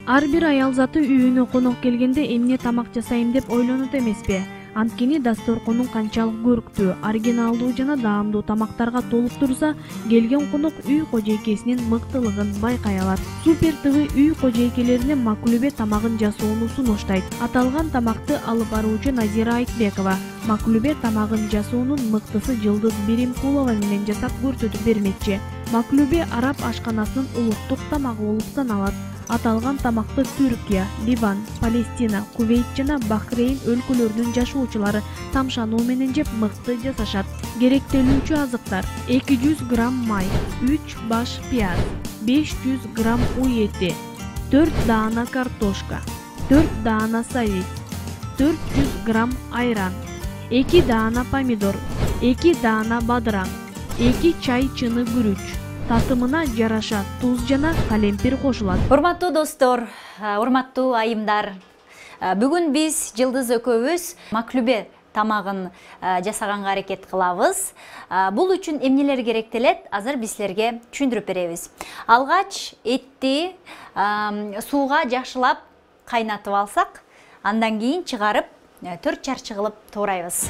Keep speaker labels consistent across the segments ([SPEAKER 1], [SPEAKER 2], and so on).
[SPEAKER 1] Ар бир аял заты үйүнө конок келгенде эмне тамак жасайм деп ойлонот эмеспи? Анткени дасторконун канчалык көрктүү, оригиналдуу жана даамдуу тамактарга толуп турса, келген конок үй кожойкесинин мыктылыгын байкай алат. Супер ТВ үй кожойкелерине Маклубе тамагын жасоону сунуштайт. Аталган тамакты алып баруучу Назира Айтбекова Маклубе тамагын жасоонун мыктысы Жылдыз Биримкулова менен жасап көрсөтүп бермекчи. Маклубе араб ашканасынын улуттук тамагы болуп саналат. Аталган тамакты Түркия, Ливан, Палестина, Кувейт жана Бахрейн өлкөлөрүнүн жашоочулары тамшануу менен жеп мыкты жасашат. Керектелүүчү азыктар: 200 грамм май, 3 баш пияз, 500 грамм уй эти, 4 даана картошка, 4 даана савис, 400 грамм айран, 2 даана помидор, 2 даана бадыраң, 2 чай чыны күрүч. Татымына жараша туз жана калемпир кошулат.
[SPEAKER 2] Урматтуу достор, урматтуу айымдар. Бүгүн биз Жылдыз экөөбүз Маклубе тамагын жасаганга аракет кылабыз. Бул үчүн эмнелер керектелет? Азыр биз силерге түшүндүрүп беребиз. Алгач этти сууга жакшылап кайнатып алсак, андан кийин чыгарып 4 чарчы кылып туурайбыз.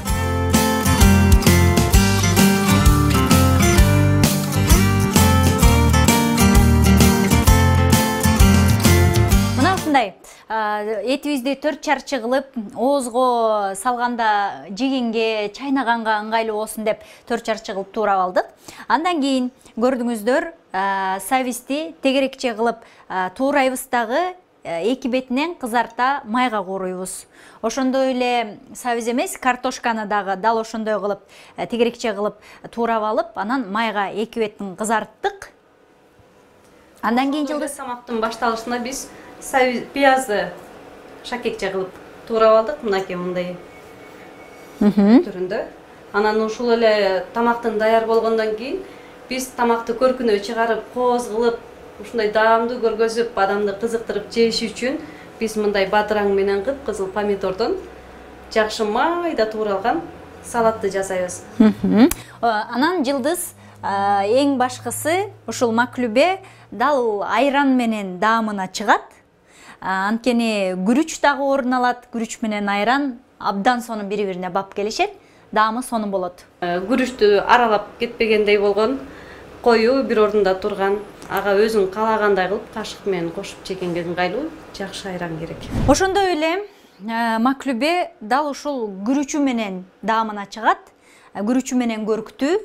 [SPEAKER 2] Этибизди 4 чарчы кылып, оозго салганда, жегенге, чайнаганга ыңгайлуу болсун деп 4 чарчы кылып туурап алдык. Андан кийин көрдүңүздөр, сависти тегерекче кылып туурайбыз дагы, эки бетинен кызарта майга кууруйбуз. Ошондой эле савис эмес, картошканы дагы дал ошондой кылып, тегерекче кылып туурап алып, анан майга эки бетин кызарттык. Андан кийин Жылдыз
[SPEAKER 3] тамактын башталышында биз пиязды шакекче кылып туурап алдык, мынакей мындай түрүндө. Анан ушул эле тамактын даяр болгондон кийин биз тамакты көркүнө чыгарып, кооз кылып, ушундай даамдуу көргөзүп, адамды кызыктырып жеш үчүн биз мындай бадыраң менен кып-кызыл помидордон жакшы майда тууралган салатты жасайбыз.
[SPEAKER 2] Анан Жылдыз эң башкысы ушул Маклубе дал айран менен даамына чыгат. Анткени күрүч дагы орун алат, күрүч менен айран абдан сонун бири-бирине бап келишет, даамы сонун болот.
[SPEAKER 3] Күрүчтү аралап кетпегендей болгон, коюу бир ордунда турган, ага өзүң каалагандай кылып кашык менен кошуп жегенге ыңгайлуу жакшы айран керек.
[SPEAKER 2] Ошондой эле Маклубе дал ушул күрүчү менен даамына чыгат, күрүчү менен көрктүү.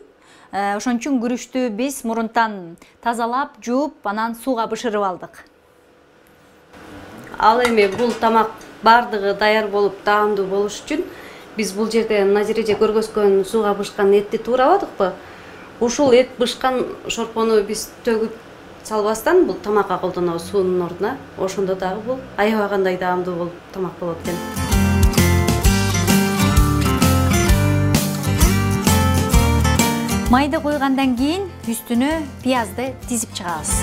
[SPEAKER 2] Ошон үчүн күрүчтү биз мурунтан тазалап, жууп, анан сууга бышырып алдык.
[SPEAKER 3] Ал эми бул тамак бардыгы даяр болуп, даамдуу болуш үчүн биз бул жерде Назиреже көргөзгөн сууга бышкан этти туурабадыкпы? Ушул эт бышкан шорпону биз төгүп салбастан бул тамакка колдонобуз суунун ордуна. Ошондо дагы бул аябагандай даамдуу болуп тамак болот экен.
[SPEAKER 2] Майды койгандан кийин үстүнө пиязды тизип чыгабыз.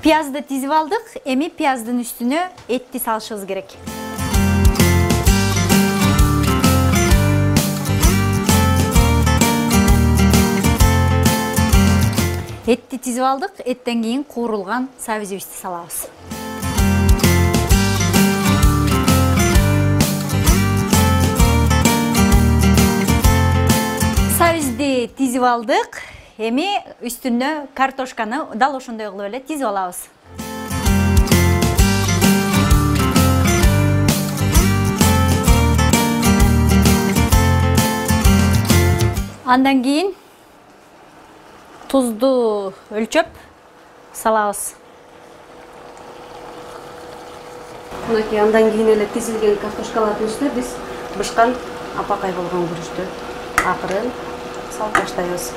[SPEAKER 2] Пиязды тизип алдык, эми пияздын үстүнө этти салышыбыз керек. Этти тизип алдык, эттен кийин куурулган сависибизди салабыз. Сависти тизип алдык. Эми үстүнө картошканы дал ошондой кылып эле тизип алабыз. Андан кийин тузду өлчөп салабыз.
[SPEAKER 3] Мынакей андан кийин эле тизилген картошкалардын үстүнө биз бышкан апакай болгон күрүчтү акырын салып баштайбыз.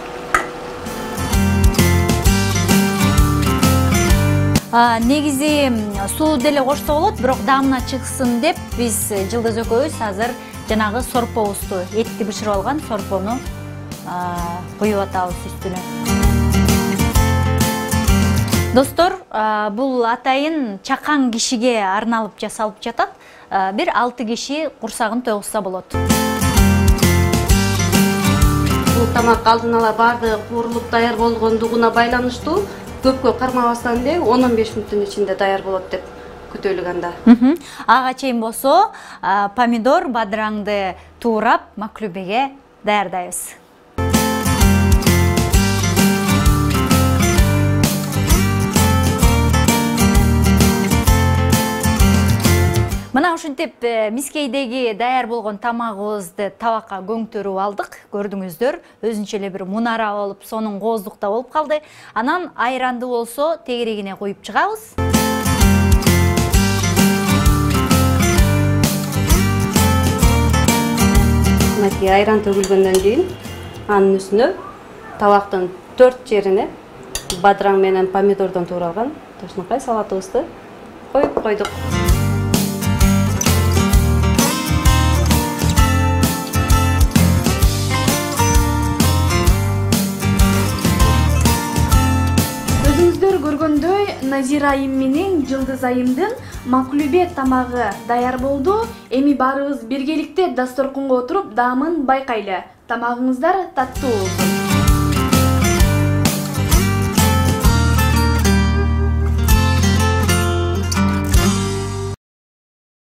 [SPEAKER 2] Негизи суу деле кошсо болот, бирок даамына чыксын деп биз Жылдыз экөөбүз азыр жанагы сорпобузду, этти бышырып алган сорпону куюп атабыз үстүнө. Достор, бул атайын чакан кишиге арналып жасалып жатат. Бир 6 киши курсагын тойгузса болот.
[SPEAKER 3] тамак алдын ала баардыгы куурулуп даяр болгондугуна байланыштуу көпкө кармабастан эле 10-15 мүнөттүн ичинде даяр болот деп күтөлүк анда.
[SPEAKER 2] Ага чейин болсо помидор бадыраңды туурап маклубеге даярдайбыз. Мына ушинтип мискейдеги даяр болгон тамагыбызды табакка көңтөрүп алдык. Көрдүңүздөр, өзүнчө эле бир мунара болуп, сонун кооздукта болуп калды. Анан айранды болсо тегерегине коюп чыгабыз.
[SPEAKER 3] Мынакей айран төгүлгөндөн кийин анын үстүнө табактын 4 жерине бадыраң менен помидордон тууралган тошнокай салатыбызды коюп койдук.
[SPEAKER 1] Көргөндөй Назира айым менен Жылдыз айымдын маклубе тамагы даяр болду. Эми баарыбыз биргеликте дасторконго отуруп даамын байкайлы. Тамагыңыздар таттуу болсун.